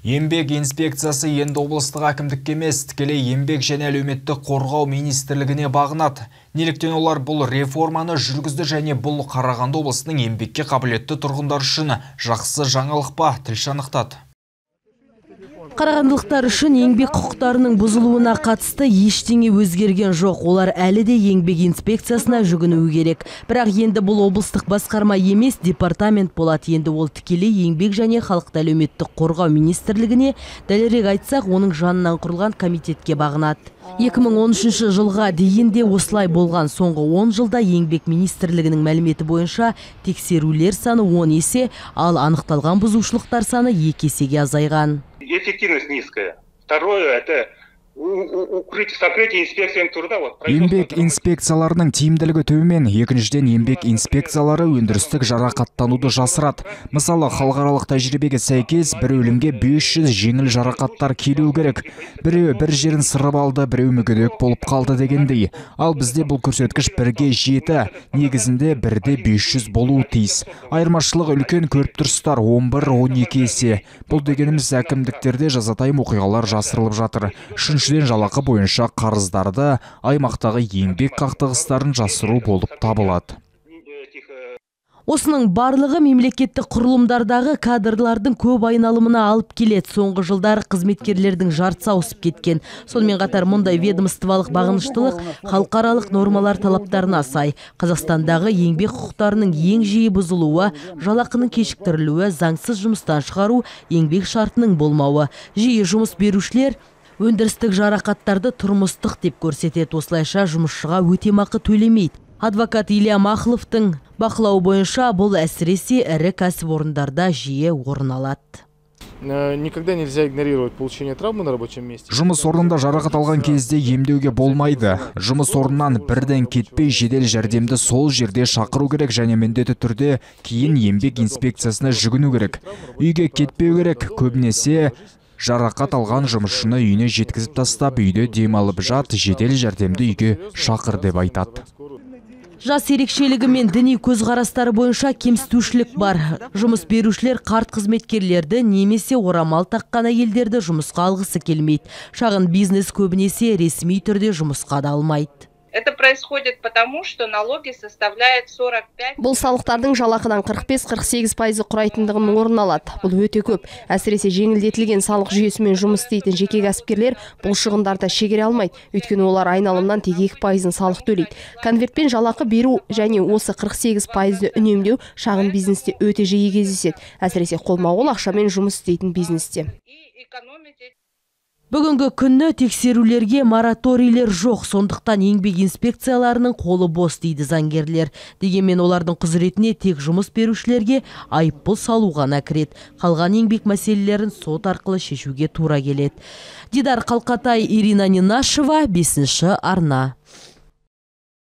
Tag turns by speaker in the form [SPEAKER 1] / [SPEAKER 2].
[SPEAKER 1] Еңбек инспекциясы енді облыстық әкімдікке емес, тікелей еңбек және әлеуметтік қорғау министрлігіне бағынады. Неліктен олар бұл реформаны жүргізді және бұл Қарағанды облысының еңбекке қабілетті тұрғындар үшін жақсы жаңалық па? Тілші анықтады.
[SPEAKER 2] Қарағандылықтар үшін еңбек құқықтарының бұзылуына қатысты ештеңе өзгерген жоқ. Олар әлі де еңбек инспекциясына жүгінуі керек. Бірақ енді бұл облыстық басқарма емес, департамент болады. Енді ол тікелей еңбек және халықты әлеуметтік қорғау министрлігіне, дәлірек айтсақ, оның жанынан құрылған комитетке бағынады. 2013 жылға дейін де осылай болған. Соңғы 10 жылда еңбек министрлігінің мәліметі бойынша тексерулер саны 10 есе, ал анықталған бұзушылықтар саны 2 есеге азайған.
[SPEAKER 3] Эффективность низкая. Второе, это сокрытие инспекцияның труда.
[SPEAKER 1] Еңбек инспекцияларының тиімділігі төмен. Екіншіден, еңбек инспекциялары өндірістік жарақаттануды жасырады. Мысалы, халықаралық тәжірибеге сәйкес, бір өлімге 500 жеңіл жарақаттар келу керек. Біреу бір жерін сырып алды, біреу мүгедек болып қалды дегендей. Ал бізде бұл көрсеткіш 1-ге 7, негізінде 1-де 500 болуы тиіс. Айырмашылық үлкен, көріп тұрсыздар, 11-12 есе. Бұл дегеніміз әкімдіктерде жазатайым оқиғалар жасырылып жатыр. Үшіншіден, жалақы бойынша қарыздарды аймақтағы еңбек қақтығыстарын жасыру болып табылады.
[SPEAKER 2] Осының барлығы мемлекеттік құрылымдардағы кадрлардың көп айналымына алып келеді. Соңғы жылдары қызметкерлердің жартысы ауысып кеткен. Сонымен қатар мұндай ведомстволық бағыныштылық халықаралық нормалар талаптарына сай. Қазақстандағы еңбек құқықтарының ең жиі бұзылуы, жалақының кешіктірілуі, заңсыз жұмыстан шығару, еңбек шартының болмауы. Жиі жұмыс берушілер өндірістік жарақаттарды тұрмыстық деп көрсетеді. Осылайша жұмысшыға өтемақы төлемейді. Адвокат Илья Махловтың бақылауы бойынша бұл әсіресе ірі кәсіпорындарда жиі орын алады.
[SPEAKER 4] Никогда нельзя игнорировать получение травмы на рабочем месте.
[SPEAKER 1] Жұмыс орнында жарақат алған кезде емдеуге болмайды. Жұмыс орнынан бірден кетпей жедел жәрдемді сол жерде шақыру керек және міндетті түрде кейін еңбек инспекциясына жүгіну керек. Үйге кетпеу керек. Көбінесе жарақат алған жұмысшыны үйіне жеткізіп тастап, үйде демалып жат, жедел жәрдемді үйге шақыр деп айтады.
[SPEAKER 2] Жас ерекшелігі мен діни көзқарастары бойынша кемсітушілік бар. Жұмыс берушілер қарт қызметкерлерді немесе орамал таққан әйелдерді жұмысқа алғысы келмейді. Шағын бизнес көбінесе ресми түрде жұмысқа да алмайды.
[SPEAKER 5] Это происходит потому, что налоги составляют 45.
[SPEAKER 6] Бұл салықтардың жалақыдан 45-48% құрайтындығын орын алады. Бұл өте көп. Әсіресе жеңілдетілген салық жүйесімен жұмыс істейтін жеке кәсіпкерлер бұл шығындарды шегере алмайды. Өйткені олар айналымнан тек 2% салық төлейді. Конвертпен жалақы беру және осы 48%-ді үнемдеу шағын бизнесте өте жиі кездеседі. Әсіресе қолма-қол ақшамен жұмыс істейтін бизнесте.
[SPEAKER 2] Бүгінгі күнні тексерулерге мораторийлер жоқ, сондықтан еңбек инспекцияларының қолы бос дейді заңгерлер. Дегенмен олардың құзыретіне тек жұмыс берушілерге айыппұл салу ғана кіреді. Қалған еңбек мәселелерін сот арқылы шешуге тура келеді. Дидар Қалқатай, Ирина Нинашева, 5-ші арна.